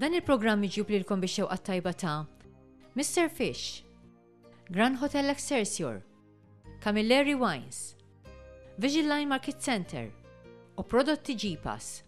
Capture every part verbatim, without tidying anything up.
Dan il-programm miġjub lilkom bix-xewqa tajba ta' Mister Fish, Grand Hotel Excelsior, Camilleri Wines, Vision Line Market Center u prodotti G-Pass.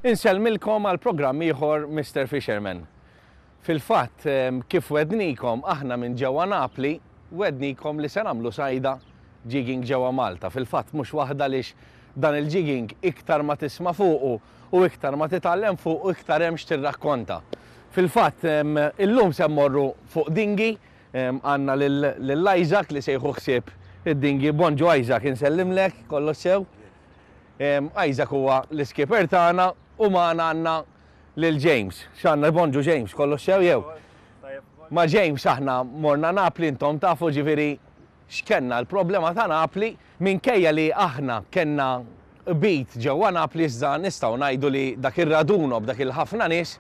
Insellmilkom għal programm ieħor Mister Fisherman. Fil-fatt, kif wednikom aħna minn ġewwa Napli, wednikom li se nagħmlu sajda jigging ġewwa Malta. Fil-fatt mhux waħda lix dan il-jigging iktar ma tisma' fuqu u iktar ma titgħallem fuqu iktar hemm x'tirrakkonta. Fil-fatt, illum se mmorru fuq dingi, għandna lil Isaac li se jieħu ħsieb id-dingi. Bonġu Isaac, insellimlek, kollox sew. Isaac huwa l-iskipper tagħna u magħna għandna lil James. X'għandna? Bonġu James, kollox sew jew? Ma' James aħna morna Napli, intom tafu ġifieri x'kenna l-problema ta' Napli, minkejja li aħna kellna bit ġewwa Napli iżda nistgħu ngħidu li dak ir-raduno b'dak il-ħafna nies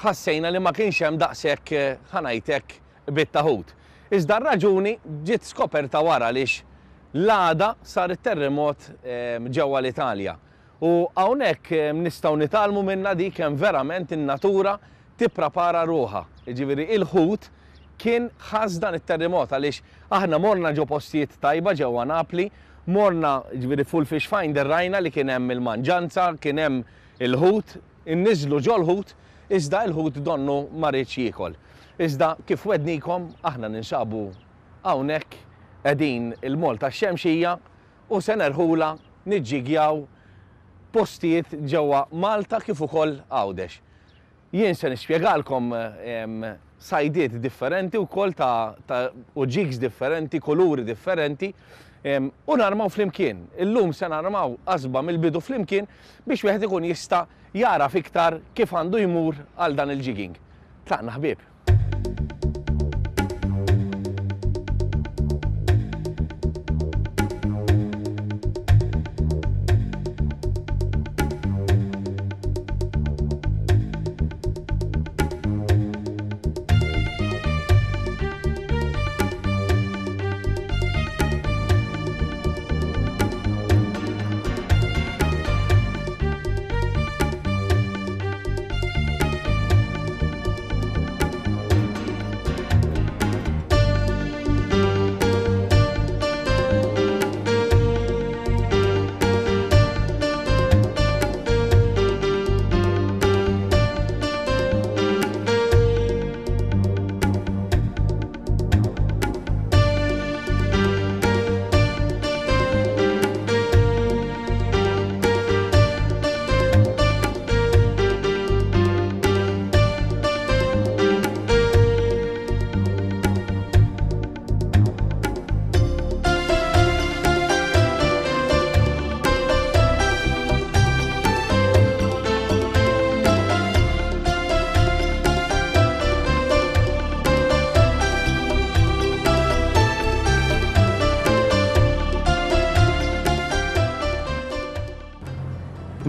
ħassejna li ma kienx hemm daqshekk ħanajtek bit ta' ħut. Iżda r-raġuni ġiet skoperta wara għaliex l-għada sar it-terremot ġewwa l-Italja. U hawnhekk nistgħu nitgħallmu minna dik kemm verament in-natura tipprepara ruħha. Jiġifieri il-ħut kien ħass dan it-terremot għaliex aħna morna ġo postijiet tajba ġewwa Napli, morna ġifieri full fish finder rajna li kien hemm il-manġanza, kien hemm il-ħut, inniżlu ġol-ħut, iżda il-ħut donnu ma riedx jiekol. Iżda kif wednikom aħna ninsabu hawnhekk qegħdin il-Mol tax-Xemxija u se nerħula niġġigjaw postijiet ġewwa Malta kif ukoll Għawdex. Jien se nispjegalkom sajdiet differenti wkoll ta', ta u jigs differenti, kuluri differenti, u narmaw flimkien. Illum se narmaw qasba mill-bidu flimkien biex wieħed ikun jista' jaraf iktar kif għandu jmur għal dan il-jigging. Tlaqna ħbieb.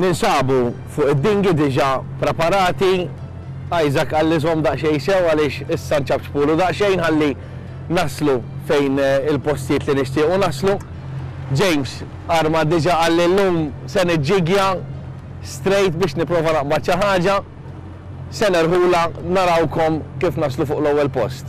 Ninsabu fuq id-dingi diġà preparati. Isaac qalli żomm daqsxejn sew għaliex issa nċabċpulu daqsxejn ħalli naslu fejn il-postijiet li nixtiequ naslu. James arma diġà qalli llum se niġġigja straight biex nipprova naqbad xi ħaġa. Se nerħula narawkom kif naslu fuq l-ewwel post.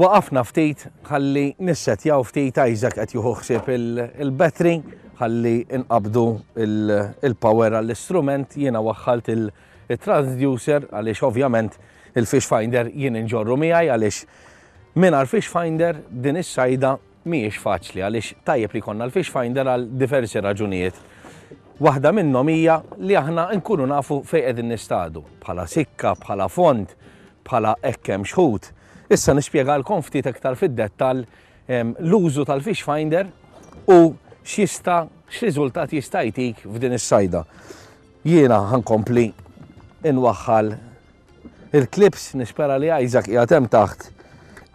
Waqafna ftit ħalli nissetjaw ftit. Isaac qed jieħu ħsieb il-battery ħalli nqabdu il-power għall-istrument. Jiena waħħalt il-transducer għaliex ovvjament il-fish finder jien inġorru miegħi, għaliex mingħajr fish finder din is-sajda mhijiex faċli, għaliex tajjeb li jkollna l-fish finder għal diversi raġunijiet. Waħda minnhom hija li aħna nkunu nafu fejn qegħdin nistadu, bħala sikka, bħala fond, bħala hekk hemm xħut. Issa nispjegalkom ftit iktar fid-dettall l-użu tal-fish finder u x'jista' x'riżultat jista' jtik f'din is-sajda. Jiena ħa nkompli inwaħħal il-clips, nispera li Isaac qiegħed hemm taħt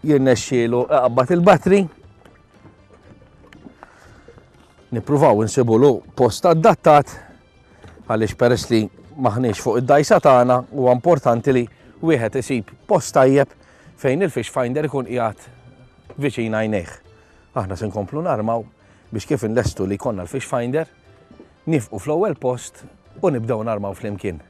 jirnexxielu iqabbad il-battery. Nippruvaw insibulu post adattat għaliex peress li maħniex fuq id-dajsa tagħna huwa importanti li wieħed isib post tajjeb fejn il-fish finder ikun qiegħed viċin għajnejh. Aħna se nkomplu narmaw biex kif inlestu li jkollna l-fish finder nifqu fl-ewwel post u nibdew narmaw flimkien.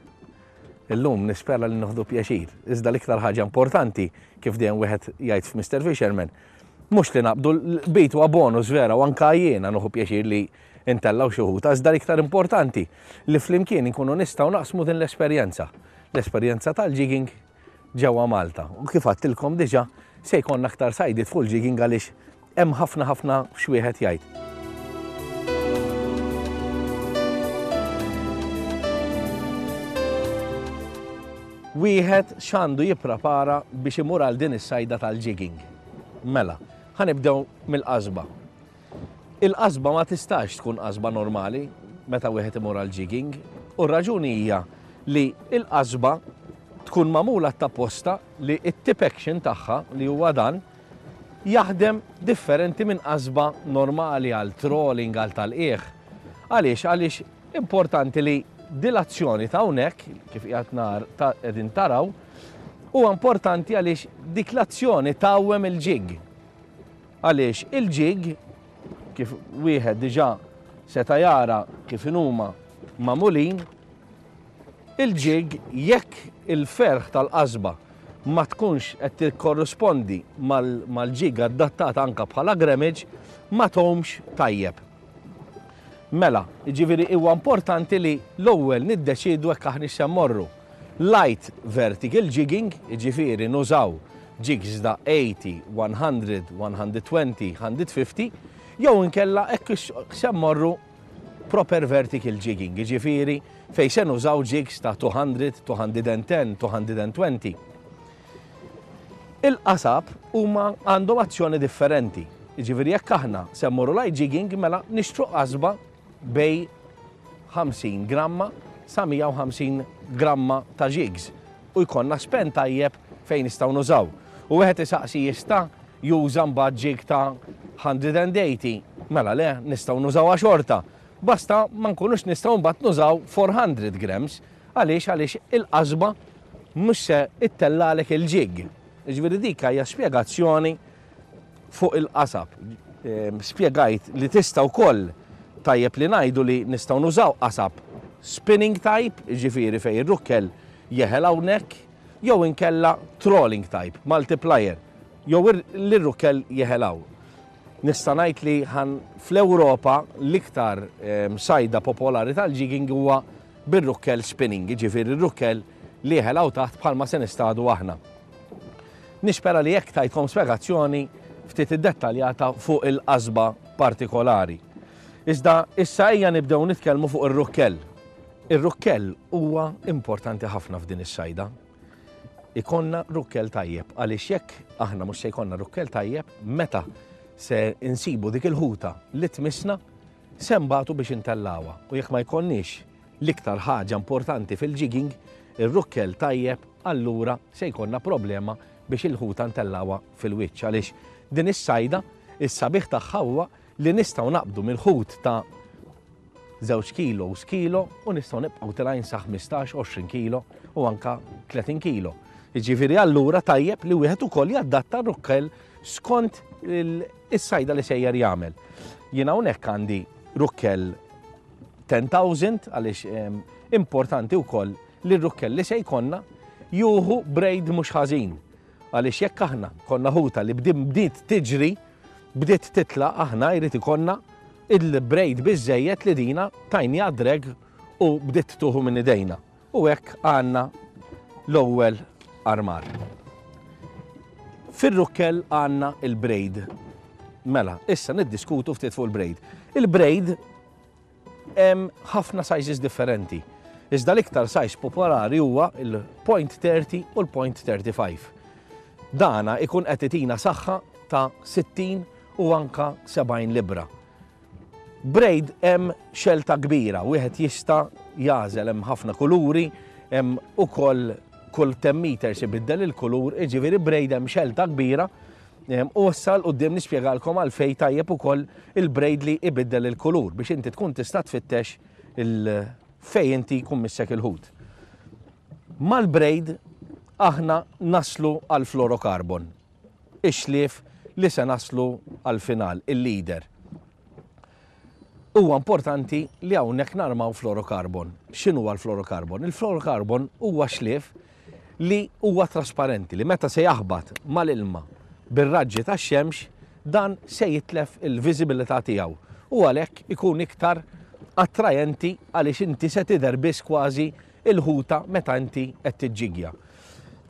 Illum nispera li nieħdu pjaċir, iżda l-iktar ħaġa importanti kif dejjem wieħed jgħid f'Mister Fisherman, mhux li naqbdu l-bit huwa bonus vera u anke jiena nieħu pjaċir li intellaw xi ħuta, iżda l-iktar importanti li flimkien inkunu nistgħu naqsmu din l-esperjenza, l-esperjenza tal-jigging ġewwa Malta. U kif għedtilkom diġà se jkollna aktar sajdiet fuq il-jigging għaliex hemm ħafna ħafna x'wieħed jgħid. Wieħed x'għandu jipprepara biex imur għal din is-sajda tal-jigging. Mela, ħa nibdew mill-qasba. Il-qasba ma tistax tkun qasba normali meta wieħed imur għal jigging, u r-raġuni hija li il-qasba tkun magħmula t'apposta li t-tip action tagħha li huwa dan jaħdem differenti minn qasba normali għal trolling, għal tal-qiegħ. Għaliex? Għaliex importanti li dilazzjoni ta' hawnhekk, kif qiegħed nar ta' qegħdin taraw, huwa importanti għaliex dik l-azzjoni tawwem il-jig. Għaliex il-jig, kif wieħed diġà seta' jara kif inhuma magħmulin, il-jig jekk il-ferħ tal-qasba ma tkunx qed tikkorrispondi mal-jig adattata anka bħala grammage, ma tgħumx tajjeb. Mela, jiġifieri huwa importanti li l-ewwel niddeċiedu hekk aħna se mmorru. Light vertical jigging, jiġifieri nużaw jigs da eighty, one hundred, one hundred twenty, hundred fifty, jew inkella hekk se mmorru proper vertical jigging, jiġifieri fejn se nużaw jigs ta' two hundred, two hundred and ten, two hundred and twenty. Il-qasab huma għandhom azzjoni differenti. Jiġifieri jekk aħna se mmorru light jigging, mela nixtru qasba bej ħamsin gramma sa mija u ħamsin gramma ta' jigs u jkollna spen tajjeb fejn nistgħu nużaw. U wieħed isaqsi jista' juża mbagħad jig ta' hundred and eighty, mela le, nistgħu nużawha xorta. Basta ma nkunux nistgħu mbagħad nużaw four hundred grams. Għaliex? Għaliex il-qasba mhux se ittellalek il-jig. Jiġifieri dik hija spjegazzjoni fuq il-qasab. Ehm, spjegajt li tista' wkoll tajjeb li ngħidu li nistgħu nużaw qasab spinning type, jiġifieri fejn ir-rukkel jeħel hawnhekk, jew inkella trolling type, multiplier, jew li r-rukkel jeħel hawn. Nista' ngħid li ħan fl-Ewropa l-iktar, ehm, sajda popolari tal-jigging huwa bir-rukkel spinning, jiġifieri r-rukkel li jeħel hawn taħt bħalma se nistadu aħna. Nispera li jekk tajtkom spjegazzjoni ftit iddettaljata fuq il-qasba partikolari. Iżda issa ejja nibdew nitkellmu fuq ir-rukkell. Ir-rukkell huwa importanti ħafna f'din is-sajda. Ikonna rukkell tajjeb, għaliex jekk aħna mhux se jkollna rukkell tajjeb, meta se insibu dik il-ħuta li tmissna, se nbatu biex intellawha. U jekk ma jkollniex l-iktar ħaġa importanti fil-jigging, ir-rukkell tajjeb, allura se jkollna problema biex il-ħuta ntellawha fil-wiċċ. Għaliex din is-sajda, is-sabiħ tagħha huwa li nistgħu naqbdu mill-ħut ta' żewġ kilo u kilo u nistgħu nibqgħu tilgħin sa ħmistax, għoxrin kilo u anka tletin kilo. Jiġifieri allura tajjeb li wieħed ukoll jadatta r-rukkell skont il-, is-sajda li sejjer jagħmel. Jien hawnhekk għandi rukkell ten thousand għaliex, ehm, importanti wkoll li r-rukkell li se jkollna juhu braid mhux ħażin. Għaliex jekk aħna konna ħuta li bdiet tiġri, bdiet titla', aħna jrid ikollna il-braid biżejjed li dina tajni drag u bdiet tuħu minn idejna. U hekk għandna l-ewwel armar. Fir-rukkel għandna il-braid. Mela, issa niddiskutu ftit fuq il-braid. Il-braid hemm ħafna sizes differenti. Iżda l-iktar size popolari huwa il-point thirty u l-point thirty-five. Dana ikun qed itina saħħa ta' sittin u anka sebgħin libra. Braid hemm xelta kbira, wieħed jista' jażel, hemm ħafna kuluri, hemm ukoll kull ten meters ibiddel il-kulur, jiġifieri braid hemm xelta kbira. U issa 'l quddiem nispjegalkom għalfejn tajjeb ukoll il-braid li ibiddel il-kulur biex inti tkun tista' tfittex il fejn inti jkun missek il-ħut. Mal-braid aħna naslu għal fluorocarbon, ix-xlief li se naslu għal final, il-leader. Huwa importanti li hawnhekk narmaw fluorocarbon. X'inhu huwa l-fluorocarbon? Il-fluorocarbon huwa xlief li huwa trasparenti, li meta se jaħbat mal-ilma bir-raġġi tax-xemx, dan se jitlef il-viżibilità tiegħu u għalhekk ikun iktar attrajenti għaliex inti se tidher biss kważi il-ħuta meta inti qed tiġġigja.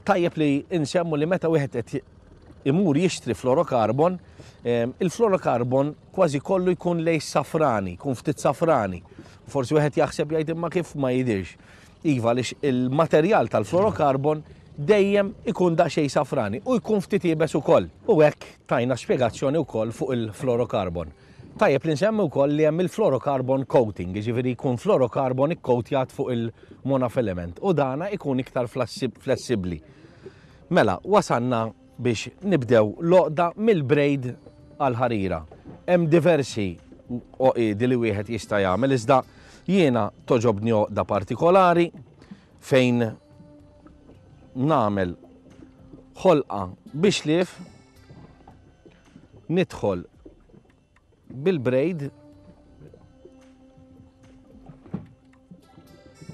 Tajjeb li nsemmu li meta wieħed qed imur jixtri fluorocarbon, ehm, il-fluorocarbon kważi kollu jkun lej safrani, jkun ftit safrani. Forsi wieħed jaħseb jgħid imma kif ma jidirx. Iva, għaliex il-materjal tal-fluorocarbon dejjem ikun daqsxejn safrani u jkun ftit iebes ukoll. U hekk tajna spjegazzjoni wkoll fuq il-fluorocarbon. Tajjeb li nsemmi wkoll li hemm il-fluorocarbon coating, jiġifieri jkun fluorocarbon ikkowtjat fuq il-monofilament u dana ikun iktar flessibbli. Mela, wasanna biex nibdew l-għoqda mill-braid għal-ħarira. Hemm diversi għoqiedi li wieħed jista' jagħmel, iżda jiena toġobni għoqda partikolari fejn nagħmel ħolqa biex lief, nidħol bil-braid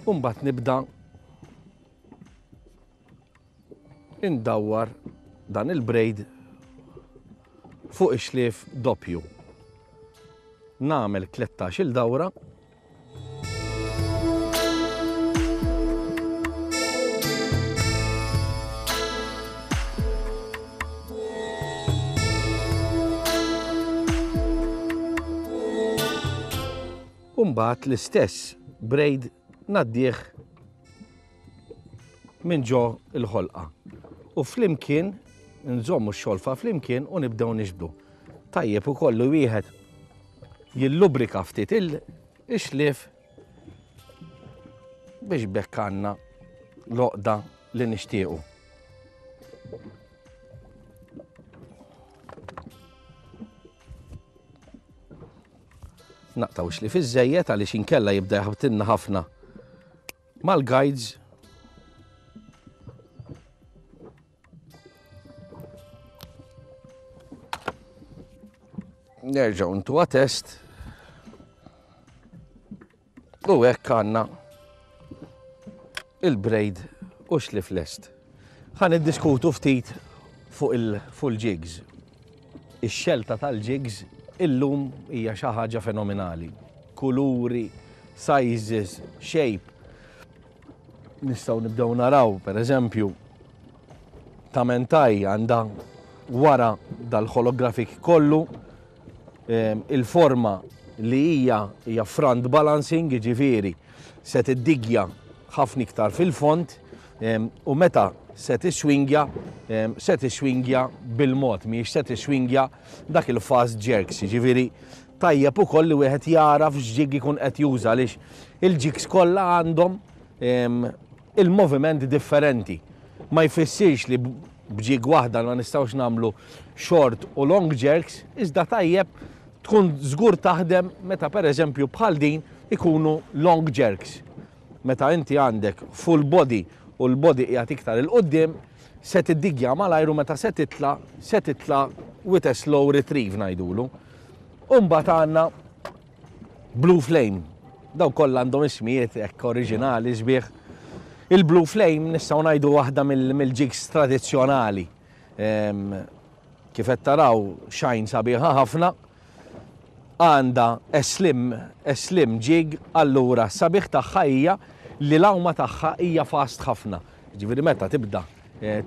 u mbagħad nibda indawwar dan il-braid fuq ix-xlief doppju. Nagħmel tlettax-il dawra. U mbagħad l-istess braid ngħaddih minn ġo il-ħolqa. U flimkien nżommu x-xolfa flimkien u nibdew nixbdu. Tajjeb ukoll li wieħed jillubrika ftit il-xlief biex bekk għandna l-għoqda li nixtiequ. Naqtaw xlief iż-żejjed għaliex inkella jibda jaħbtilna ħafna mal-guides. Nerġgħu ntuha test. U hekk għandna il-braid u xlief lest. Ħa niddiskutu ftit fuq il-jigs. Ix-xelta tal-jigs illum hija xi ħaġa fenomenali. Kuluri, sizes, shape. Nistgħu nibdew naraw, per eżempju, ta' mentaj għandha wara dal-holographic kollu, ehm, il-forma li hija hija front balancing, jiġifieri se tiddigja ħafna iktar fil-font, ehm, u meta se tiswingja, ehm, se tiswingja bil-mod, mhijiex se tiswingja dak il-fast jerks, jiġifieri tajjeb ukoll li wieħed jara f'x'ġig ikun qed juża għaliex il-jigs kollha għandhom, ehm, il-moviment differenti. Ma jfissirx li b'ġig waħda ma nistgħux nagħmlu short u long jerks, iżda tajjeb tkun żgur taħdem meta pereżempju bħal din ikunu long jerks. Meta inti għandek full body u l-body qiegħed iktar il-qudiem, se tiddigja malajru meta se titla, se titla with a slow retrieve ngħidulu. U mbagħad għandna Blue Flame. Daw kollha għandhom ismijiet hekk oriġinali sbieħ. Il-Blue Flame nistgħu ngħidu waħda mill-jigs tradizzjonali. Kif qed taraw, shine sabiħa ħafna. Għandha slim, slim jig, allura sabiħ tagħha hija li l-għawma tagħha hija fast ħafna. Ġifieri meta tibda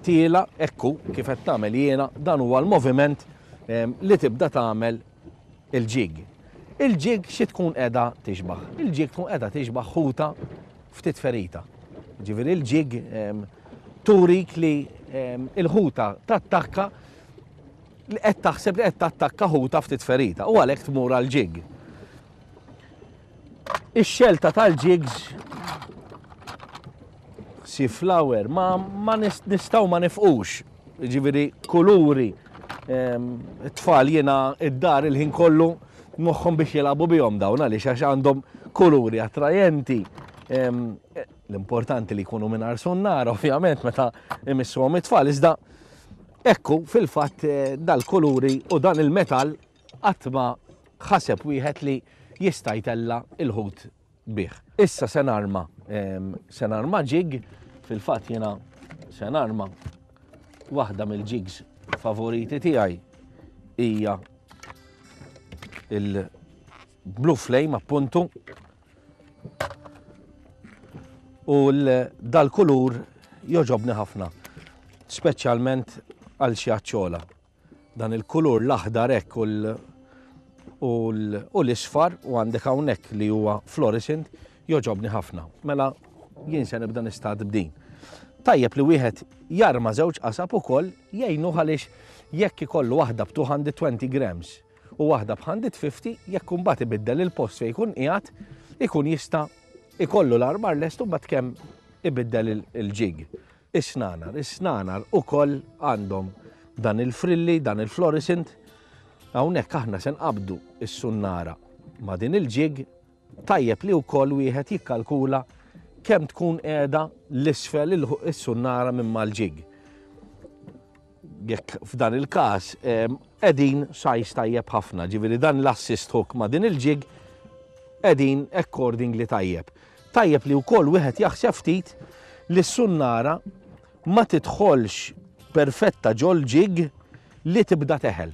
tiela, ekku kif qed tagħmel jiena, dan huwa l-moviment li tibda tagħmel il-jig. Il-jig xi tkun qiegħda tixbaħ? Il-jig tkun qiegħda tixbaħ ħuta ftit ferita. Ġifieri il-jig turik li il-ħuta tattakka li qed taħseb li qed tattakka ħuta ftit ferita u għalhekk tmur għal jig. Ix-xelta tal-jigs sea flower ma, ma nistgħu ma nifqux. Ġifieri kuluri, tfal jiena id-dar il-ħin kollu moħħhom biex jilagħbu bihom dawn għaliex għax għandhom kuluri attrajenti. L-importanti li jkunu mingħajr sunnar, ovvjament, meta imissuhom it-tfal, iżda ekku fil-fatt dal-kuluri u dan il-metal qatt ma ħaseb wieħed li jista' jtella' il-ħut bih. Issa se narma, se narma jig, fil-fatt jiena se narma waħda mill-jigs favoriti tiegħi hija il-Blue Flame appuntu, u dal-kulur joġobni ħafna, speċjalment għal xi aċċola. Dan il-kulur l-aħdar hekk u l-isfar u għandek hawnhekk li huwa fluorescent joġobni ħafna. Mela jien se nibda nistad b'din. Tajjeb li wieħed jarma żewġ qasab ukoll jgħinu għaliex jekk ikollu waħda b' two hundred twenty grams u waħda b' one hundred fifty, jekk imbagħad ibiddel il-post fejn jkun qiegħed, ikun jista' ikollu l-armar lest u mbagħad kemm ibiddel il-jig. Is-snanar, is-snanar ukoll għandhom dan il-frilli, dan il-fluorescent. Hawnhekk aħna se nqabdu is-sunnara ma' din il-jig. Tajjeb li wkoll wieħed jikkalkula kemm tkun qiegħda l-isfel is-sunnara minn mal-jig. Jekk f'dan il-każ qegħdin size tajjeb ħafna, ġifieri dan l-assist hook ma' din il-jig qegħdin accordingly tajjeb. Tajjeb li wkoll wieħed jaħseb ftit li s-sunnara ma tidħolx perfetta ġol jig li tibda teħel.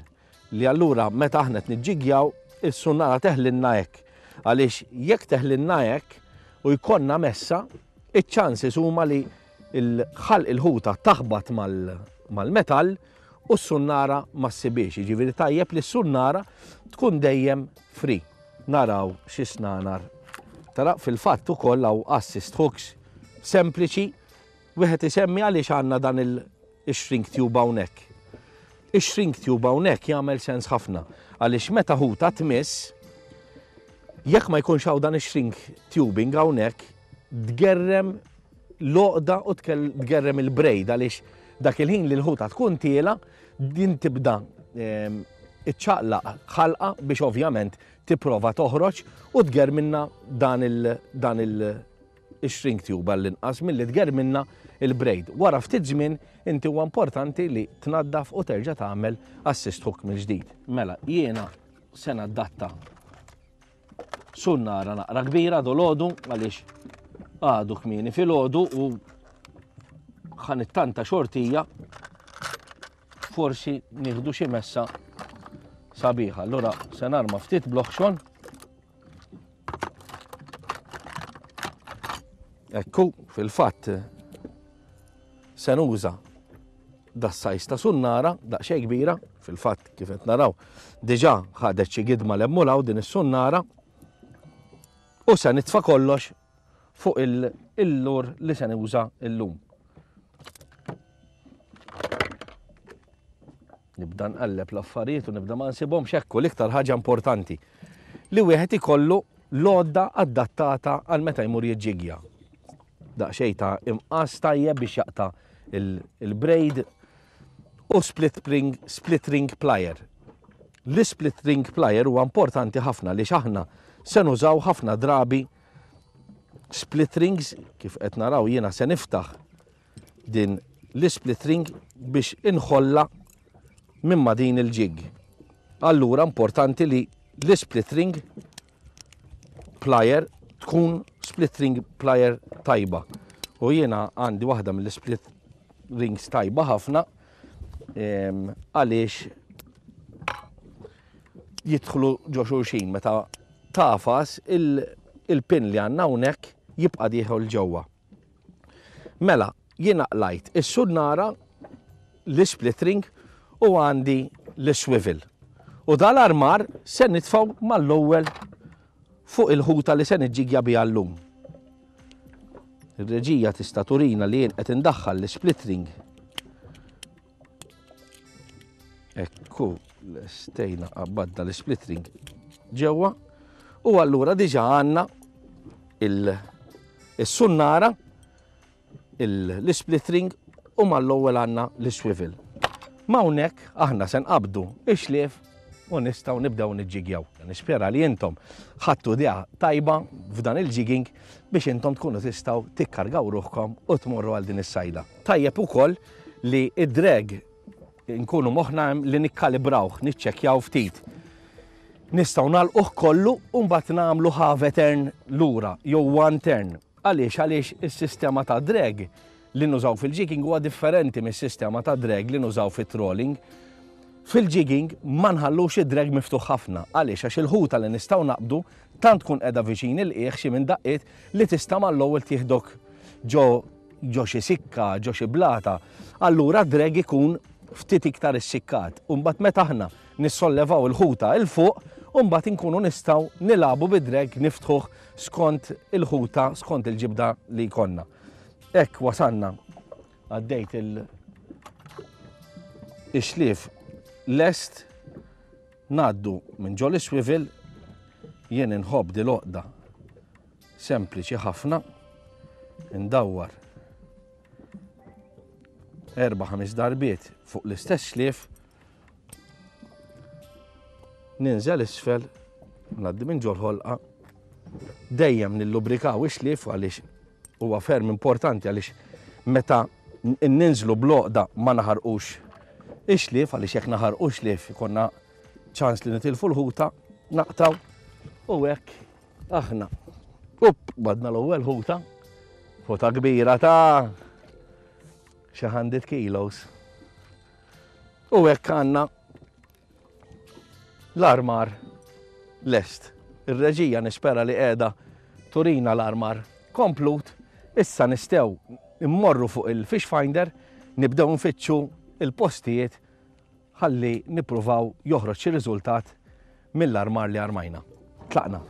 Li allura meta aħna qed niġġigjaw is-sunnara teħlinna hekk. Għaliex jekk teħlinna hekk u jkollna messa, iċ-chances huma li il-ħalq il-ħuta taħbat mal-metall u s-sunnara ma ssibiex. Jiġifieri tajjeb li s-sunnara tkun dejjem free. Naraw xi snanar. Tara, fil-fatt ukoll hawn assist hooks sempliċi. Wieħed isemmi għaliex għandna dan il-shrink tube hawnhekk. Ix-shrink tube hawnhekk jagħmel sens ħafna għaliex meta ħuta tmiss, jekk ma jkunx hawn dan ix-shrink tubing hawnhekk, tgerrem l-għoqda u tgerrem il-braid, għaliex dak il-ħin li l-ħuta tkun tiela din tibda iċċaqlaq ħalqa biex ovvjament tipprova toħroġ u tgerminna dan il dan il shrink tube għall-inqas milli tgerminna il-braid. Wara ftit żmien inti huwa importanti li tnaddaf u terġa' tagħmel assist hook mill-ġdid. Mela jiena se nadatta sunnara naqra kbira dolodu għaliex għadu kmieni filgħodu u ħanittanta xortija forsi nieħdu xi messa sabiħa. Allura se narma ftit bloħxon. Ekku, fil-fatt se nuża das-size ta' sunnara daqsxejn kbira, fil-fatt kif qed naraw diġà ħadet xi gidma l-emmulaw din is-sunnara, u se nitfa' kollox fuq il-lure li se nuża llum. Nibda nqalleb l-affarijiet u nibda ma nsibhomx. Ekku l-iktar ħaġa importanti li wieħed ikollu l-għodda adattata għal meta jmur jiġġigja. Daqsxejn ta' imqas tajjeb biex jaqta' il-braid u split ring, split ring plier. L-split ring plier huwa importanti ħafna li aħna se nużaw ħafna drabi split rings. Kif qed naraw jiena se niftaħ din l-split ring biex inħolla minn ma din il-jig. Allura importanti li l-split ring plier tkun split ring plier tajba. U jiena għandi waħda mill-split rings tajba ħafna. Għaliex jidħlu ġo xulxin meta tafas il-pin li għandna hawnhekk jibqa' dieħel ġewwa. Mela, jiena qlajt is-sunnara, l-split ring u għandi l-swivel. U dal-armar se nitfgħu mal-ewwel fuq il-ħuta li se niġġigja biha llum. Ir-reġija tista' turina li jien qed indaħħal l-split ring. Ekku, l-stejna qabbadna l-split ring ġewwa u allura diġà għandna il-sunnara, l-split ring u mal-ewwel għandna l-swivel. Ma hawnhekk aħna se nqabdu ix-xlief u nistgħu nibdew niġġigjaw. Nispera li intom ħadtu idea tajba f'dan il-jigging biex intom tkunu tistgħu tikkargaw ruħkom u tmorru għal din is-sajda. Tajjeb ukoll li id-drag nkunu moħħna hemm li nikkalibrawh, niċċekkjaw ftit. Nistgħu nagħlquh kollu u mbagħad nagħmlu half a turn lura jew one turn. Għaliex? Għaliex is-sistema ta' drag li nużaw fil-jigging huwa differenti mis-sistema ta' drag li nużaw fit-trolling. Fil-jigging ma nħallux id-drag miftuħ ħafna. Għaliex? Għax il-ħuta li nistgħu naqbdu tant tkun qiegħda viċin il-qiegħ xi minn daqqiet li tista' mal-ewwel tieħdok ġo ġo xi sikka, ġo xi blata. Allura drag ikun ftit iktar issikkat. U mbagħad meta aħna nissollevaw il-ħuta il fuq, u mbagħad inkunu nistgħu nilagħbu bid-drag niftħuh skont il-ħuta, skont il-ġibda li jkollna. Hekk wasanna għaddejt il- ix-xlief lest, ngħaddu minn ġol swivel, jien inħobb di l-oqda sempliċi ħafna, indawwar erba' ħames darbiet fuq l-istess xlief, ninżel isfel, ngħaddi minn ġol ħolqa, dejjem nillubrikaw ix-xlief għaliex huwa ferm importanti, għaliex meta ninżlu bl-oqda ma naħarqux ix-xlief, għaliex jekk naħarqu xlief ikonna ċans li nitilfu l-ħuta, naqtaw u hekk aħna. Up, badna l-ewwel ħuta, ħuta kbira ta' xi hundred kilos. U hekk għandna l-armar lest. Ir-reġija nispera li qiegħda turina l-armar komplut. Issa nistgħu immorru fuq il-fish finder, nibdew nfittxu il-postijiet ħalli nippruvaw joħroġ xi riżultat mill-armar li armajna. Tlaqna.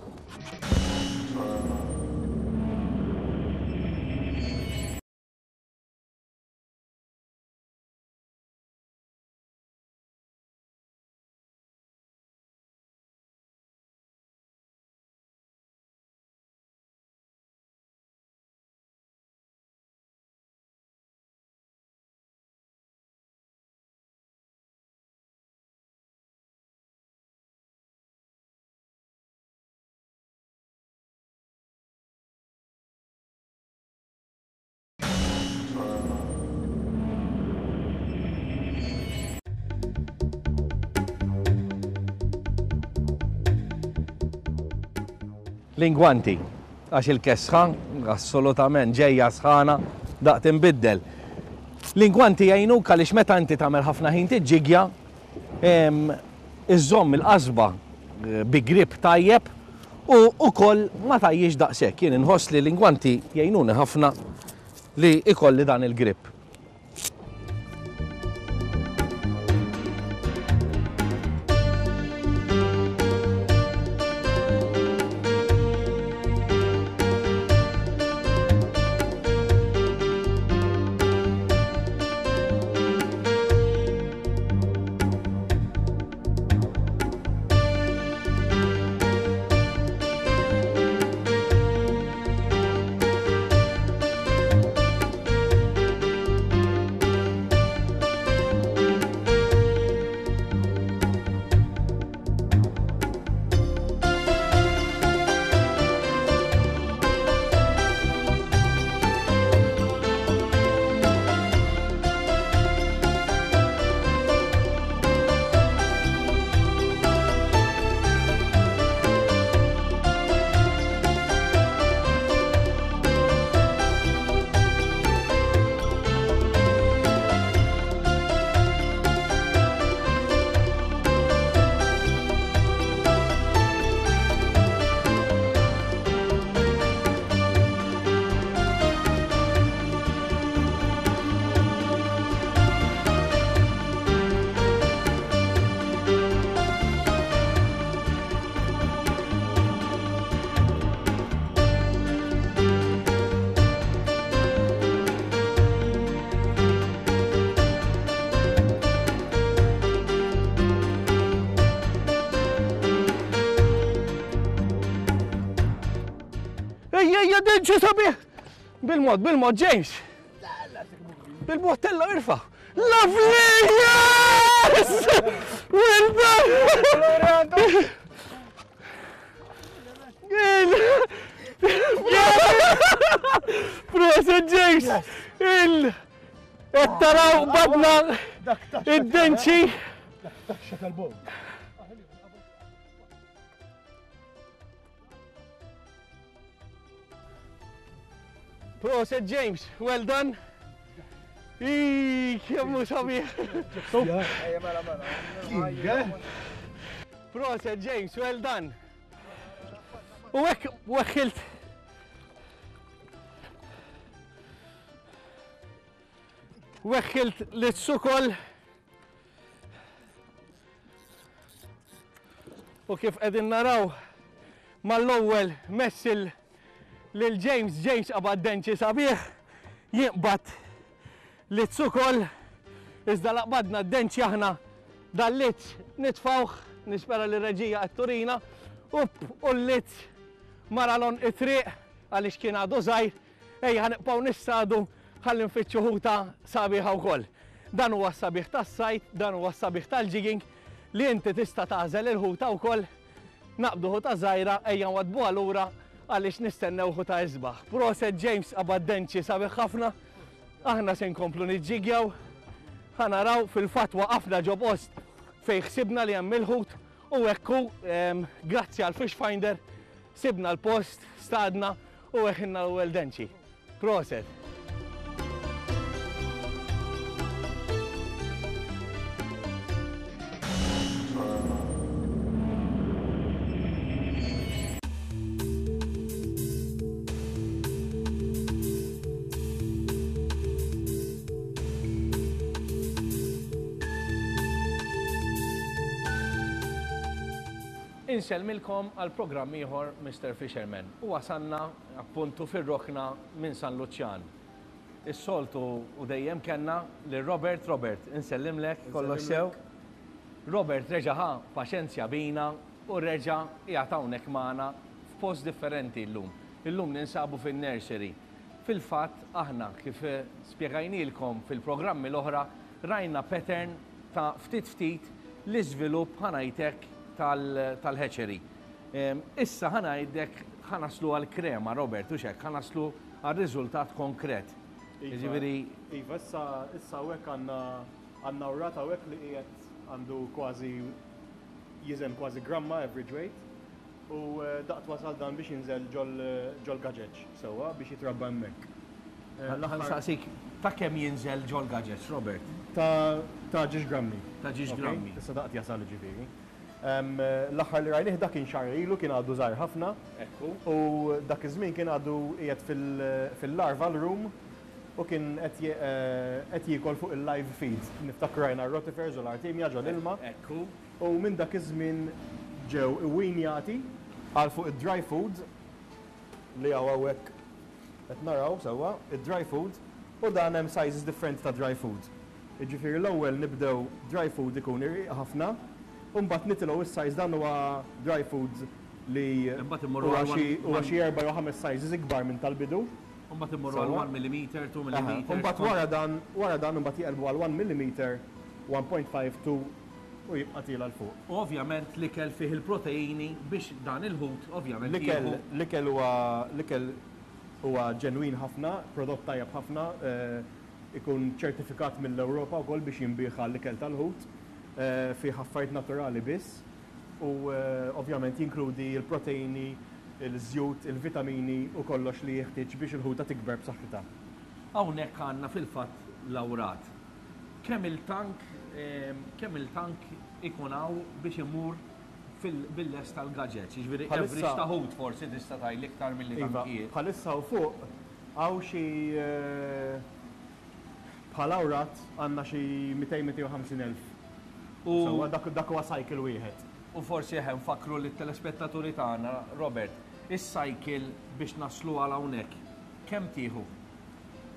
Lingwanti, għax il-kesħa assolutament ġejja sħana daqt inbiddel. Lingwanti jgħinuk għaliex meta inti tagħmel ħafna ħin tiġġigja, iżżomm il-qasba bi grip tajjeb u wkoll ma tajjix daqshekk. Jien inħoss li lingwanti jgħinuni ħafna li ikolli dan il-grip. Denċi sabiħ! Bil-mod, bil-mod, James! Bil-mod, tella irfa! Lovely! Yes! Well done! Proset, James! Il... Qed taraw badna id-denċi. Taxxa tal-bol. Proset, James, well done. Ii, kemm hu sabiħ. Proset, James, well done. U hekk weħħilt. Weħħilt l-sukol. U kif qegħdin naraw mal-ewwel messil lil James, James qabad denċi sabiħ, jinqbad l-sukol, iżda laqbadna d-denċi aħna dal-lizz nitfawh, nispera li reġija qed turina, up u l-lizz maralon it-triq għaliex kien għadu żgħir, ejja ħanibqgħu nissadu ħalli nfittxu ħuta sabiħa wkoll. Dan huwa s-sabiħ tas-sajt, dan huwa s-sabiħ tal-jigging li inti tista' tagħżel il-ħuta wkoll, naqbdu ħuta żgħira ejja nwadbuha lura għaliex nistennew ħuta isbaħ. Proset James qabad denċi sabiħ ħafna, aħna se nkomplu niġġigjaw, ħa naraw fil-fatt waqafna ġo post fejn ħsibna li hemm il-ħut u hekk hu, grazzi għal Fish Finder sibna l-post, stadna u weħilna l-ewwel denċi. Proset. Insellmilkom għal programm ieħor Mister Fisherman u wasanna appuntu fir-rokna minn San Luċjan. Is-soltu u dejjem kellna lil Robert. Robert, insellimlek, kollox sew. Robert reġa' ħa paċenzja bina u reġa' qiegħed hawnhekk magħna f'post differenti llum. Illum ninsabu fin-nursery. Fil-fatt aħna kif spjegajnilkom fil-programmi l-oħra rajna pattern ta' ftit ftit l-iżvilupp ħanajtek tal-hatchery. Issa ħanajdek ħanaslu għal-krema, Robert, u xek, ħanaslu għal-riżultat konkret. Jiġifieri Iva, issa issa hawnhekk għandna għandna wrat hawnhekk li qiegħed għandu kważi jiżen kważi gramma average weight u daqt wasal dan biex jinżel ġol gaġeġ sewwa biex jitrabba hemmhekk. Ħa nsaqsik ta' kemm jinżel ġol gaġeġ, Robert? Ta' ġiex grammi. Ta' ġiex grammi. Issa daqt jasal ġifieri. L-aħħar li rajnih dak kien xahar ilu, kien għadu żgħir ħafna. Ekku. U dak iż-żmien kien għadu qiegħed fil-larval room u kien qed jiekol fuq il-live feed. Niftakru rajna r-rotifers u l-artemia ġol ilma. Ekku. U minn dak iż-żmien ġew iwinjati għal fuq id-dry food li hawn hawnhekk qed naraw sewwa, id-dry food, u dan hemm sizes differenti ta' dry food. Jiġifieri l-ewwel nibdew dry food ikun irqiq ħafna, u mbagħad nitilgħu is-size dan huwa dry food li Imbagħad immorru huwa għal xi one- huwa xi erba' jew ħames sizes ikbar minn tal-bidu. U mbagħad immorru għal one millimeter, two millimeter. U mbagħad wara dan, wara dan imbagħad jeqilbu għal one millimeter, one point five, two u jibqa' tiela' l fuq. U ovvjament l-ikel fih il-proteini biex dan il-ħut ovvjament L-ikel, jieħu. l-ikel huwa, l-ikel huwa ġenwin ħafna, prodott tajjeb ħafna, eh, ikun ċertifikat mill-Ewropa wkoll biex jinbih għall-ikel tal-ħut, eh, fih affarijiet naturali biss u, eh, ovvjament jinkludi l-proteini, il-żjut, il-vitamini u kollox li jeħtieġ biex il-ħuta tikber b'saħħitha. Hawnhekk għandna fil-fatt l-awrat. Kemm il-tank, ehm, kemm il-tank ikun hawn biex imur bil-lest tal-gadgets, jiġifieri Bħalissa average ta' ħut forsi tista' tgħidli iktar milli Iva, tankijiet. bħalissa u fuq hawn xi, eh, bħal awrat għandna xi mitejn, mitejn u ħamsin elf. U Sewwa, dak, dak huwa cycle wieħed. U forsi eħe nfakru lit-telespettaturi tagħna, Robert, is-cycle biex naslu għal hawnhekk, kemm tieħu?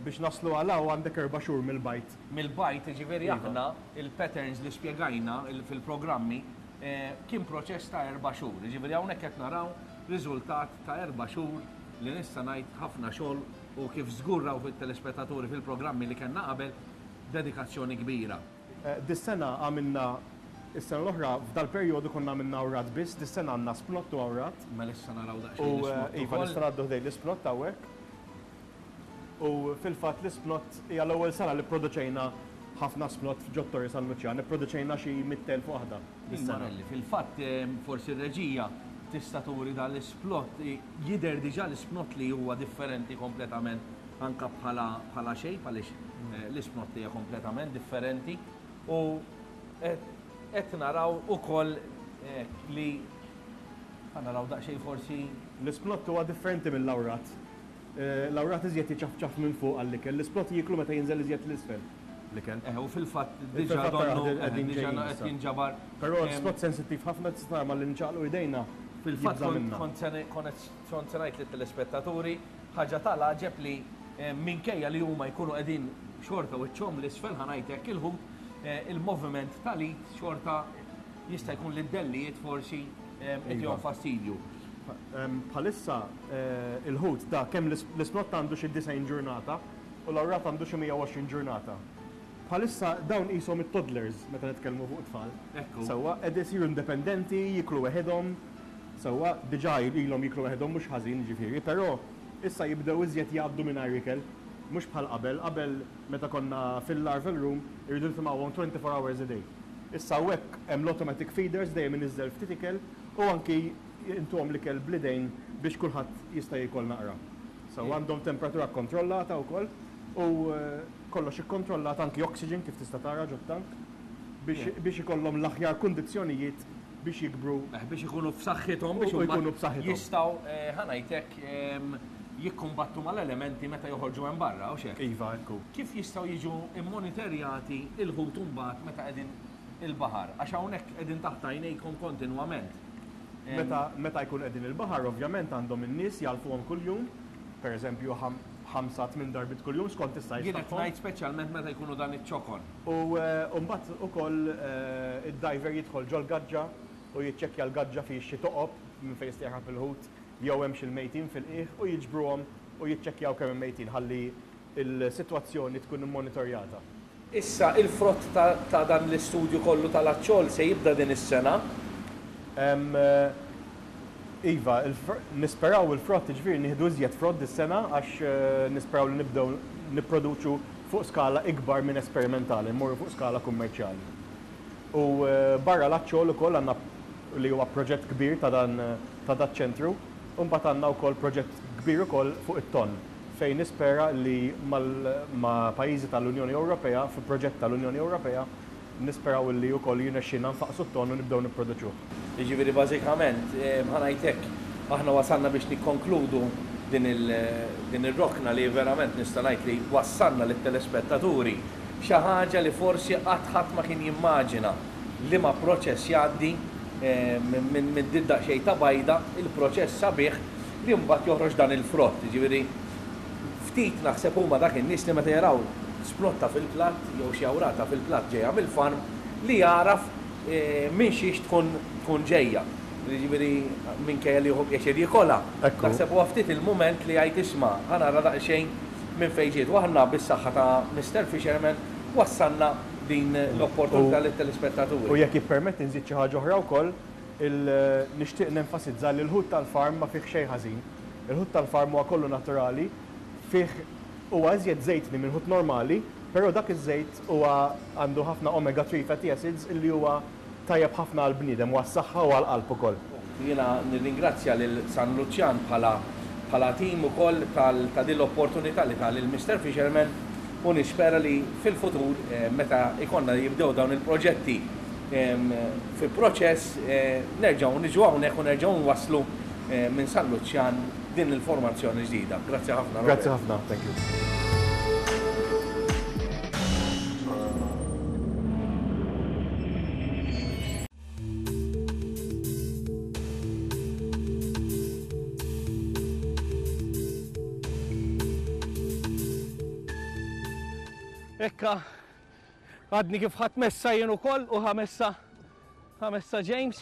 Biex naslu għal hawn għandek erba' xhur mill-bajt. Mill-bajt, jiġifieri Iva. aħna il-patterns li spjegajna il-, fil-programmi, eh, kien proċess ta' erba' xhur. Jiġifieri hawnhekk qed naraw riżultat ta' erba' xhur li nista' ngħid ħafna xogħol u kif żgur raw fit-telespettaturi fil-programmi li kellna qabel, dedikazzjoni kbira. Dis-sena għamilna, is-sena l-oħra f'dal-perjodu konna għamilna awrat biss, dis-sena għandna splott u awrat. Mela issa naraw daqsxejn l-isplott. Iva, nista' ngħaddu ħdejn l-isplott hawnhekk. U fil-fatt l-isplott hija l-ewwel sena li pproduċejna ħafna splott f'ġo Torri San Luċjan, ipproduċejna xi mitt elf waħda dis-sena. Fil-fatt forsi r-reġija tista' turi dan l-isplott, jidher diġà l-isplott li huwa differenti kompletament anka bħala bħala shape, għaliex l-isplott hija kompletament differenti u qed naraw ukoll li ħa naraw daqsxejn forsi. L-isplott huwa differenti mill-awrat. L-awrat iżjed jiċafċaf minn fuq għall-ikel, l-isplott jieklu meta jinżel iżjed l-isfel l-ikel. Eh, u fil-fatt diġà donnu diġà qed jinġabar. Però l-isplott sensittiv ħafna, tista' tara malli nċaqlu idejna. Fil-fatt kont se ngħid lit-telespettaturi ħaġa tal-għaġeb li minkejja li huma jkunu qegħdin xorta wiċċhom l-isfel, ħa ngħid hekk, il-ħut, il-moviment tal-id xorta jista' jkun li d-dellijiet forsi qed fastidju. Bħalissa il-ħut da kemm l-isplott għandu xi disgħin ġurnata u l-awrat għandu xi mija u għoxrin ġurnata. Bħalissa dawn qishom it-toddlers meta nitkellmu fuq tfal. Sewwa qed isiru indipendenti, jiklu weħidhom. Sewwa diġà ilhom jiklu weħidhom mhux ħażin ġifieri, però issa jibdew iżjed jgħaddu mingħajr ikel, mhux bħal qabel, qabel meta konna fil-larval room irridu nitimgħuhom twenty-four hours a day. Issa hawnhekk hemm l-automatic feeders dejjem iniżżel ftit ikel u anki intuhom l-ikel bl-idejn biex kulħadd jista' jiekol naqra. So għandhom temperatura kontrollata wkoll u kollox ikkontrollat, anki oxygen kif tista' tara ġot-tank biex ikollhom l-aħjar kundizzjonijiet biex jikbru. Biex ikunu f'saħħithom, biex ikunu b'saħħithom. Jistgħu, ħa ngħidlek, jikkumbattu mal-elementi meta joħorġu hemm barra, u x'hekk. Iva, ekku. Kif jistgħu jiġu immonitorjati il-ħut imbagħad meta qegħdin il-baħar? Għax hawnhekk qegħdin taħt għajnejkom kontinwament. Meta, meta jkun qegħdin il-baħar, ovvjament għandhom in-nies jgħalfuhom kuljum, pereżempju ħamsa tmien darbit kuljum skont is-sajf. Jien qed ngħid speċjalment meta jkunu dan iċ-ċokon. U mbagħad ukoll id-diver jidħol ġol-gaġġa u jiċċekkja l-gaġġa fi xi toqob minn fejn jista' il-ħut jew hemm xi mejtin fil-qiegħ u jiġbruhom u jiċċekkjaw kemm hemm mejtin ħalli l-sitwazzjoni tkun immonitorjata. Issa il-frott ta' dan l-istudju kollu tal-aċċol se jibda din is-sena? Iva, nisperaw il-frott, ġifieri nieħdu iżjed frott dis-sena għax nisperaw li nibdew nipproduċu fuq skala ikbar minn esperimentali, mmorru fuq skala kummerċjali. U barra l-aċċol ukoll għandna li huwa proġett kbir ta' dan ta' dat ċentru, u mbagħad għandna wkoll proġett kbir ukoll fuq it-ton fejn nispera li ma' pajjiżi tal-Unjoni Ewropea, fi proġett tal-Unjoni Ewropea, nisperaw li wkoll jirnexxilna nfaqsu t-ton u nibdew nipproduċuh. Jiġifieri bażikament, ħa ngħidlek, aħna wasalna biex nikkonkludu din ir-rokna li verament nista' ngħid li wassalna lit-telespettaturi xi ħaġa li forsi qatt ħadd ma kien jimmaġina li ma proċess jgħaddi minn din daqsxejn ta' bajda, il-proċess sabiħ li mbagħad joħroġ dan il-frott. Jiġifieri ftit naħseb huma dak in-nies li meta jaraw splotta fil-platt jew xi awrata fil-platt ġejja mill-farm li jaraf minn xiex tkun tkun ġejja. Jiġifieri minkejja li jieħu pjaċir jikolha. Naħseb huwa ftit il-mument li jgħid isma' ħa nara daqsxejn minn fejn ġiet. U aħna bis-saħħa ta' Mister Fisherman wassalna din l-opportunità lit-telespettaturi. U jekk jippermetti nżid xi ħaġa oħra wkoll, nixtieq nenfasizza li l-ħut tal-farm ma fih xejn ħażin. Il-ħut tal-farm huwa kollu naturali, fih huwa iżjed żejtni minn ħut normali, però dak iż-żejt huwa għandu ħafna omega three fatty acids illi huwa tajjeb ħafna għall-bniedem u għas-saħħa u għall-qalb ukoll. Jiena nirringrazzja lil San Luċjan bħala bħala tim ukoll ta' din l-opportunità li ta' lil Mister Fisherman u nispera li fil-futur meta ikonna jibdew dawn il-proġetti fi proċess nerġgħu niġu hawnhekk u nerġgħu nwasslu minn San Luċjan din l-informazzjoni ġdida. Grazzi ħafna. Grazzi ħafna, thank you. Ekka, għadni kif ħadd messa jien ukoll u ħamessa, ħamessa James.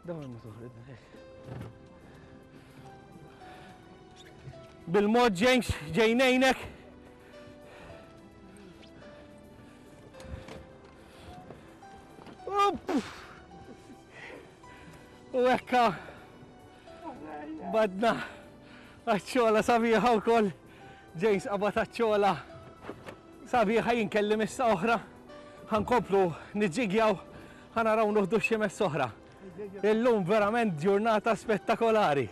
Dawn ma toħroġ. Bil-mod James, ġejnejnek. U hekka badna aċċola sabiħa wkoll. James qabad aċċola sabiħa, jinkellim issa oħra. Ħankomplu niġġigjaw, ħanaraw nuħdu xi mess oħra. Illum verament ġurnata spettakolari.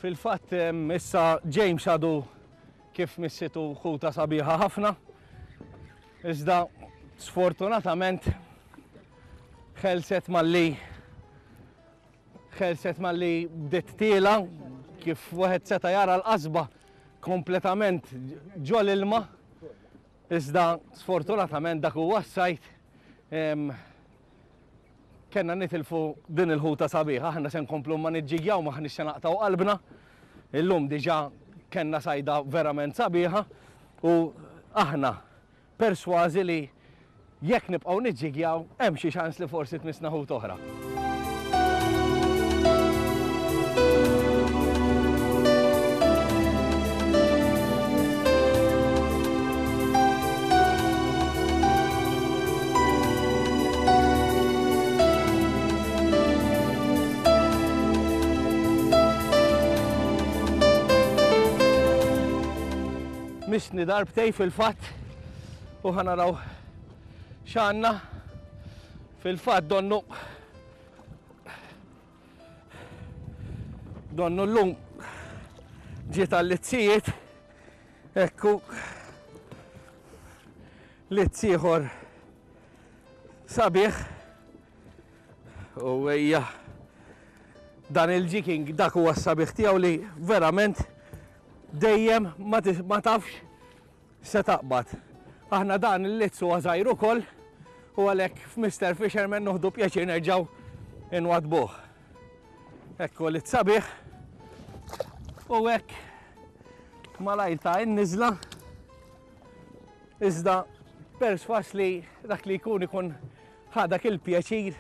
Fil-fatt issa James għadu kif missitu ħuta sabiħa ħafna. Iżda sfortunatament ħelset malli ħelset malli bdiet tiela, kif wieħed seta' jara l-qasba kompletament ġol ilma. Iżda sfortunatament dak huwa s-sajt. Kenna nitilfu din il-ħuta sabiħa, aħna se nkomplu ma niġġigjaw, ma ħniex se naqtaw qalbna. Illum diġà kenna sajda verament sabiħa u aħna persważi li jekk nibqgħu niġġigjaw hemm xi ċans li forsi tmissna ħut oħra. Misni darbtej fil-fatt u ħanaraw x'għandna. Fil-fatt donnu donnu llum ġiet għal-lizzijiet, ekku lizz ieħor sabiħ u ejja dan il-jigging dak huwa s-sabiħ tiegħu li verament dejjem ma tafx se taqbad. Aħna dan il-lizz huwa żgħir ukoll u għalhekk f'Mister Fisherman noħdu pjaċir nerġgħu inwadbuh. Ekku lizz sabiħ u hekk malajr ta' in-niżla. Iżda perswas li dak li jkun ikun ħadak il-pjaċir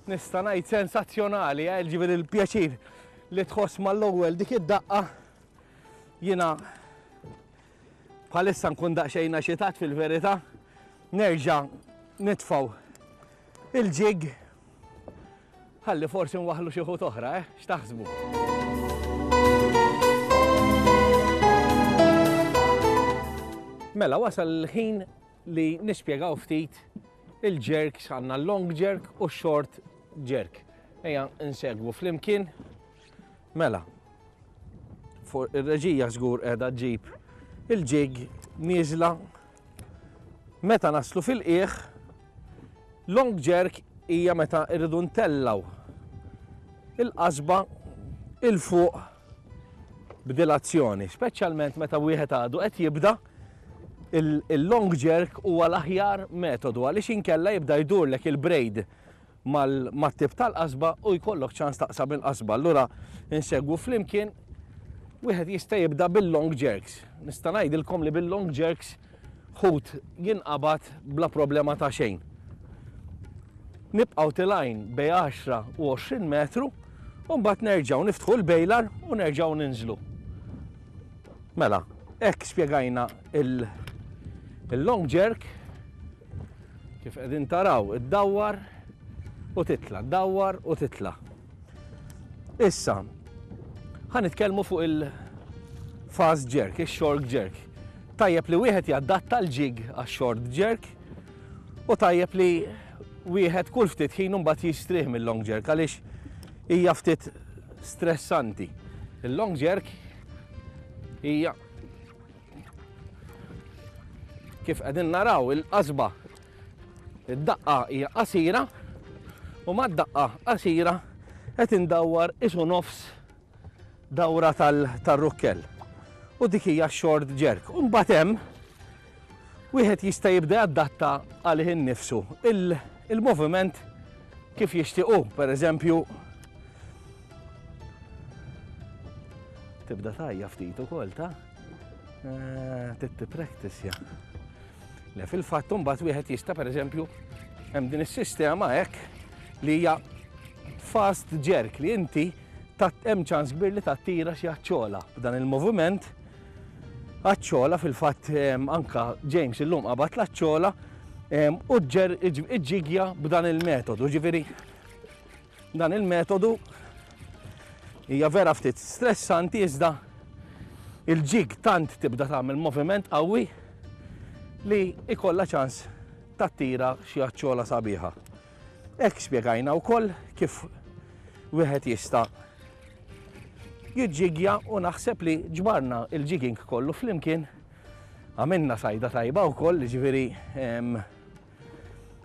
nista' ngħid sensazzjonali, eh, ġifieri il-pjaċir li tħoss mal-ewwel dik id-daqqa. Jiena bħalissa nkun daqsxejn eċitat fil-verità, nerġa' nitfgħu il-ġig ħalli forsi nwaħħlu xi ħut oħra, eh? X'taħsbu? Mela wasal il-ħin li nispjegaw ftit il-jerks, għandna long jerk u short jerk. Ejja nsegwu flimkien. Mela, ir-reġija żgur qiegħda ġġib il-ġig nieżla. Meta naslu fil-qiegħ, long jerk hija meta rridu ntellaw il-qasba il fuq b'dilazzjoni, speċjalment meta wieħed għadu qed jibda. Il-long jerk huwa l-aħjar metodu għaliex inkella jibda jdurlek il-braid mat-tip tal-qasba u jkollok ċans taqsam il-qasba. Allura insegwu flimkien, wieħed jista' jibda bil-long jerks. Nista' ngħidilkom li bil-long jerks ħut jinqabad bla problema ta' xejn. Nibqgħu tilgħin bej għaxra u għoxrin metru u mbagħad nerġgħu niftħu l-bejlar u nerġgħu ninżlu. Mela, hekk spjegajna il-long jerk, kif qegħdin taraw, iddawwar u titla, ddawwar u titla. Issa, ħa nitkellmu fuq il-fast jerk, il-short jerk. Tajjeb li wieħed jadatta l-jig għax-short jerk U tajjeb li wieħed kull ftit ħin imbagħad jistrieħ mill-long jerk għaliex hija ftit stressanti. Il-long jerk hija kif qegħdin naraw il-qasba, id-daqqa hija qasira u mad-daqqa qasira qed indawwar isu nofs dawra tal-rukkell. U dik hija short jerk. U mbagħad hemm wieħed jista' jibda jadatta għalih innifsu il-moviment kif jixtiequ. Per eżempju, tibda tajja ftit ukoll ta' titti practice ja. Le fil-fatt imbagħad wieħed jista' pereżempju hemm din is-sistema hekk li hija fast jerk li inti hemm ċans kbir li tattira xi aċċola b'dan il-moviment. Aċċola fil-fatt anka James illum qabad l-aċċola u ġer iġġigja b'dan il-metodu. Ġifieri dan il-metodu hija vera ftit stressanti iżda il-ġig tant tibda tagħmel moviment qawwi li ikollha ċans tattira xi aċċola sabiħa. Hekk spjegajna wkoll kif wieħed jista' jiġġigja u naħseb li ġbarna il-jigging kollu flimkien, għamilna sajda tajba wkoll, ġifieri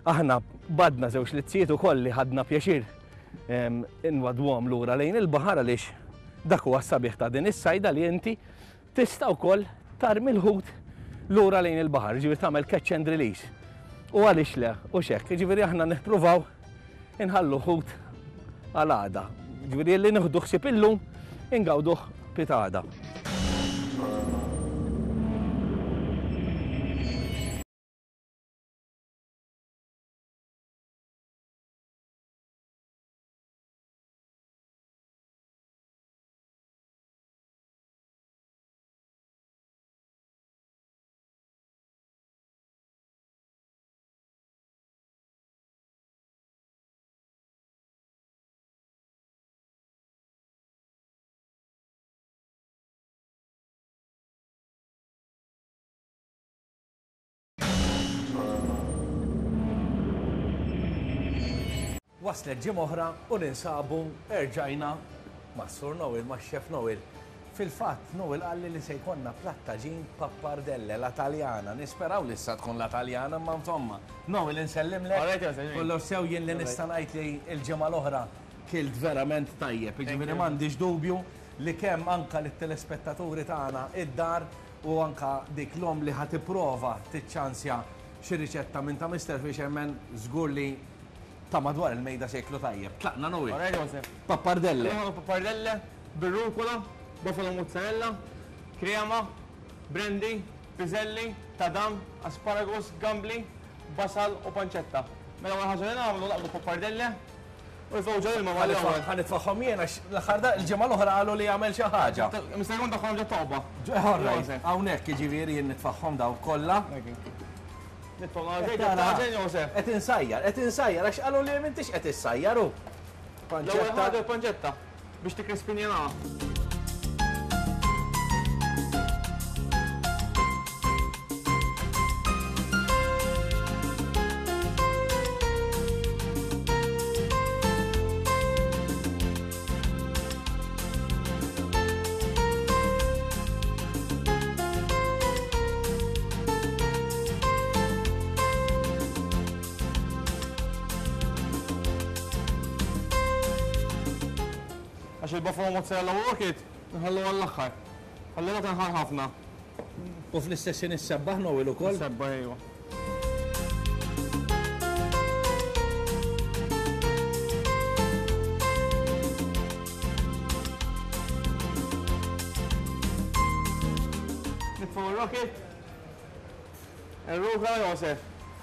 aħna badna żewġ lizzijiet ukoll li ħadna pjaċir inwadwhom lura lejn il-baħar għaliex dak huwa s-sabiħ ta' din is-sajda li inti tista' wkoll tarmi l-ħut lura lejn il-baħar, ġifieri tagħmel catch and release. U għaliex le, u x'hekk, ġifieri aħna nippruvaw inħallu ħut għal għada. Ġifieri li nieħdu ħsieb illum ingawduh pitada. Waslet ġimgħa oħra u ninsabu erġajna ma' Sur Noel, ma' Chef Noel. Fil-fatt, Noel qalli li se jkollna plattaġin pappardelle, la taljana. Nisperaw li issa tkun la taljana, ma insomma. Noel, insellimlek. Kollox sew, jien li nista' ngħid li l-ġimgħa l-oħra kilt verament tajjeb. Jiġifieri m'għandix dubju li kemm anka lit-telespettaturi tagħna id-dar u anka dik l-om li ħa tipprova tiċċansja xi riċetta minn ta' Mister Fisherman, żgur li ta' madwar il-mejda se jklu tajjeb. Tlaqna Noel. Alright, Joseph. Pappardelle. Pappardelle, bir-rucola, buffalo mozzarella, krema, brandy, piselli, tadam, asparagus, gambli, basal u pancetta. Mela wara ħaġa li nagħmlu naqbdu pappardelle u nitfgħu ġol ilma mal-ewwel. Ħa nitfagħhom jien għax l-aħħar da il-ġimgħa l-oħra qalu li jagħmel xi ħaġa. Mister jkun daħħalhom ġo toqba. Alright, hawnhekk jiġifieri jien nitfagħhom daw kollha. Qed insajjar, qed insajjar għax qalu li m'intix qed issajjar hu. L-ewwel ħaġa l-panċetta biex tikkrispinjanaha. Għax il-buffalo mozzarella u rocket nħallu għall-aħħar. Ħallina tinħar ħafna. U fl-istess ħin issebbaħ Noel ukoll? Issebbaħ ejwa. Nitfgħu ir-rocket. Ir-rukola Josef.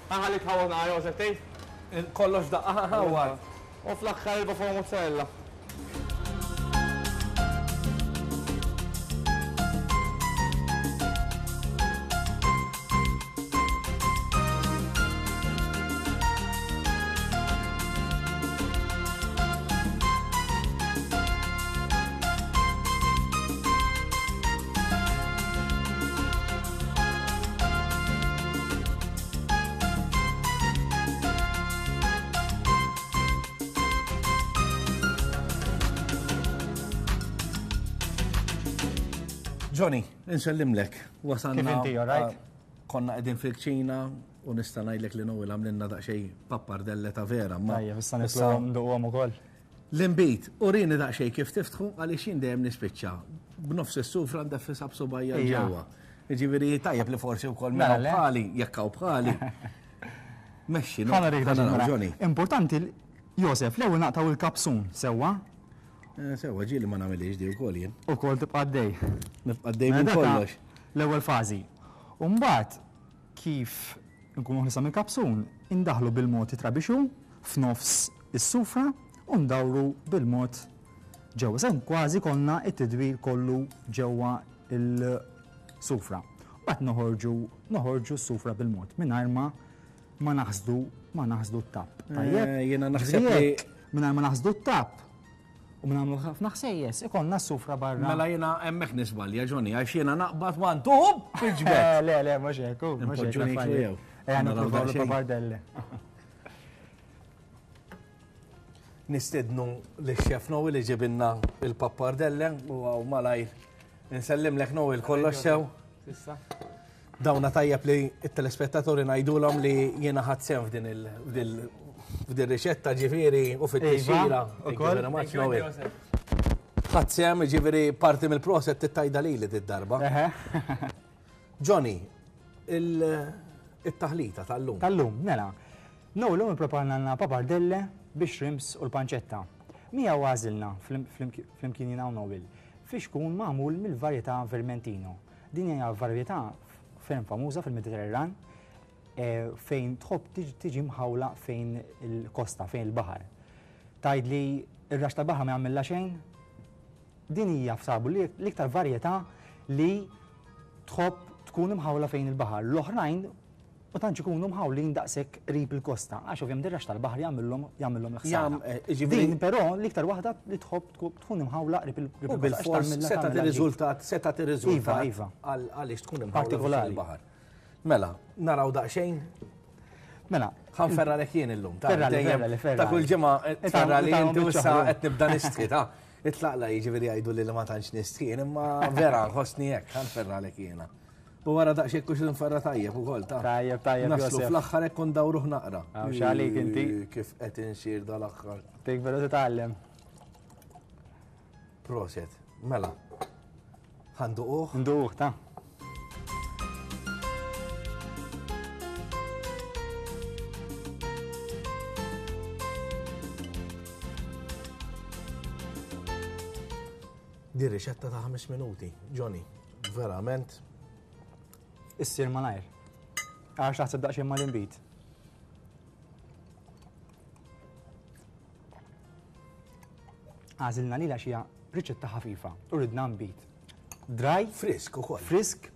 Ħalli tħawwadna Josef tgħid? Kollox daqqa ħawwad. U fl-aħħar il-buffalo mozzarella. Johnny, insellimlek. Wasalna. Kif inti, all right? Konna qegħdin fil-kċina u nista' ngħidlek li Noel għamlilna daqsxejn pappardelle ta' vera. Tajjeb, issa nitlu nduqhom ukoll. L-inbid, urini daqsxejn kif tiftħu għaliex jien dejjem nispiċċa. B'nofs is-sufra ndeffisha b'subgħajja ġewwa. Jiġifieri tajjeb li forsi wkoll mela bħali, jekk hawn bħali. Mexxi, no. Importanti, Josef, l-ewwel naqtaw il-kapsun, sewwa? Sewwa, ġieli ma nagħmilhiex di wkoll jien. Ukoll tibqa' għaddej. Nibqa' għaddej minn kollox. L-ewwel fażi. U mbagħad kif nkunu ħlisa mill-kapsun, indaħlu bil-mod it-trabixu f'nofs is-sufra u ndawru bil-mod ġewwa. Se kważi konna it-tidwir kollu ġewwa il-sufra. Mbagħad noħorġu noħorġu s-sufra bil-mod mingħajr ma ma naħsdu ma naħsdu t-tapp. Tajjeb, jiena naħseb li mingħajr ma naħsdu t-tapp u nagħmlu ħafna ħsejjes, ikollna s-sufra barra. Mela jiena hemmhekk nisbalja, Johnny, għax jiena naqbad one two fiġbet. Le, le, mhux hekk, mhux hekk. Ejja nippruvaw l-pappardelle. Nistednu lix-chef Noel li ġibilna il-pappardelle u hawn malajr. Insellimlek Noel, kollox sew. Dawna tajjeb li t-telespettaturi ngħidulhom li jiena ħadd sehem f'din il riċetta ġifieri u fit-tixjira. Thank you very much, Noel. Ħadd sehem ġifieri parti mill-proset tittajda lili d-darba. Johnny, il-taħlita tal-lum. Tal-lum, mela. Noel llum ippreparna pappardelle bix-shrimps u l-panċetta. Mija għażilna flimkien jiena u Noel fiex kun magħmul mill-varjetà Vermentino. Din hija varjetà ferm famuża fil-Mediterran fejn tħobb tiġi mħawla fejn il-kosta, fejn il-baħar. Tgħid li r-rax tal-baħar ma jagħmilha xejn? Din hija f'sabu l-iktar varjetà li tħobb tkun imħawla fejn il-baħar. L-oħrajn u tantx ikunu mħawlin daqshekk qrib il-kosta, għax ovvjament ir-rax tal-baħar jagħmilhom jagħmilhom l-ħsara. Din però l-iktar waħda li tħobb tkun imħawla qrib il-kosta. U bil-fors se tagħti riżultat, se tagħti riżultat għaliex tkun imħawla fil-baħar. Mela, naraw daqsxejn. Mela, ħanferralek jien illum. Ta' kull ġimgħa tferrali inti u issa qed nibda nistħi ta' itlaqla jiġifieri jgħidu li ma tantx nistħi, imma vera nħossni hekk ħanferralek jiena. U wara daqsxejn kux nferra tajjeb ukoll ta' Tajjeb, tajjeb. Naslu fl-aħħar hekk ndawruh naqra. Għax għalik inti. Kif qed insir dal-aħħar. Tik veru titgħallem. Proset, mela. Ħanduquh? Nduquh ta' Di riċetta ta' ħames minuti, Johnny, verament. Issir malajr. Għax taħseb daqsxejn mal-inbid. Għażilna lilha xi riċetta ħafifa u ridna nbid. Dry, frisk ukoll. Frisk,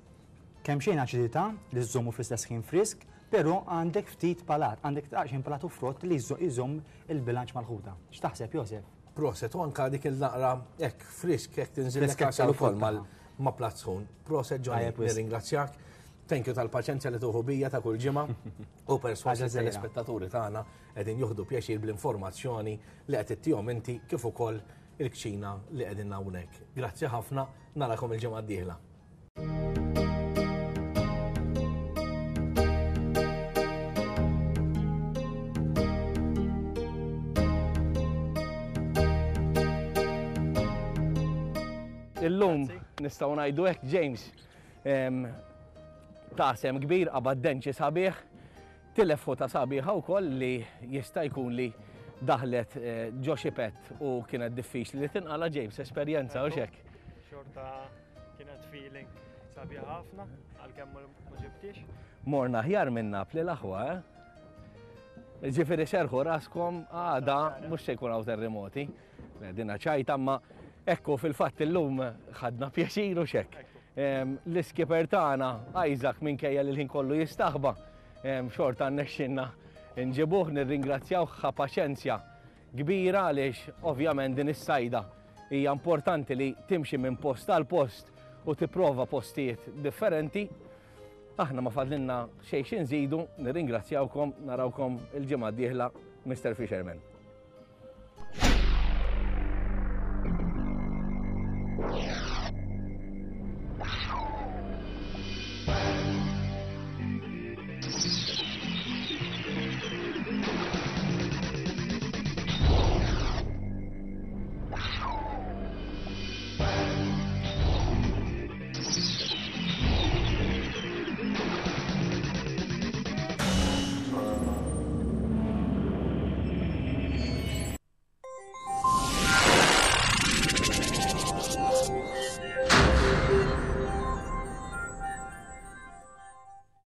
kemm xejn aċidità li żżommu fl-istess ħin frisk, però għandek ftit palat, għandek daqsxejn palat u frott li jżomm il-bilanċ mal-ħuta. X'taħseb, Josef? Proset, u anka dik il-naqra hekk frisk hekk tinżillek għasel ukoll ma' platt sħun. Proset, Johnny, nirringrazzjak. Thank you tal-paċenzja li tuħu bija ta' kull ġimgħa u persważi telespettaturi tagħna qegħdin juħdu pjaċir bl-informazzjoni li qed ittihom inti kif ukoll il-kċina li qegħdin hawnhekk. Grazzi ħafna, narakom il-ġimgħa d-dieħla. Illum nistgħu ngħidu hekk, James, ta' sem kbir qabad denċi sabiħ, tilef ħuta sabiħa wkoll li jista' jkun li daħlet ġo xi pett u kienet diffiċli li tinqala. James, esperjenza u xek. Xorta kienet feeling sabiħa ħafna, għalkemm ma ġibtix. Morna aħjar minn Napli l-aħwa, eh? Ġifieri serħu raskom għada mhux se jkun hawn terremoti. Dina ċajta, ma ekku fil-fatt illum ħadna pjaċir u xek. L-iskiper tagħna Isaac minkejja li l-ħin kollu jistaħba, xorta nnexxinna nġibuh, nirringrazzjaw ħa paċenzja kbira għaliex ovvjament din is-sajda hija importanti li timxi minn post għal post u tipprova postijiet differenti. Aħna ma fadlinna xejn xi nżidu, nirringrazzjawkom, narawkom il-ġimgħa d-dieħla, Mister Fisherman.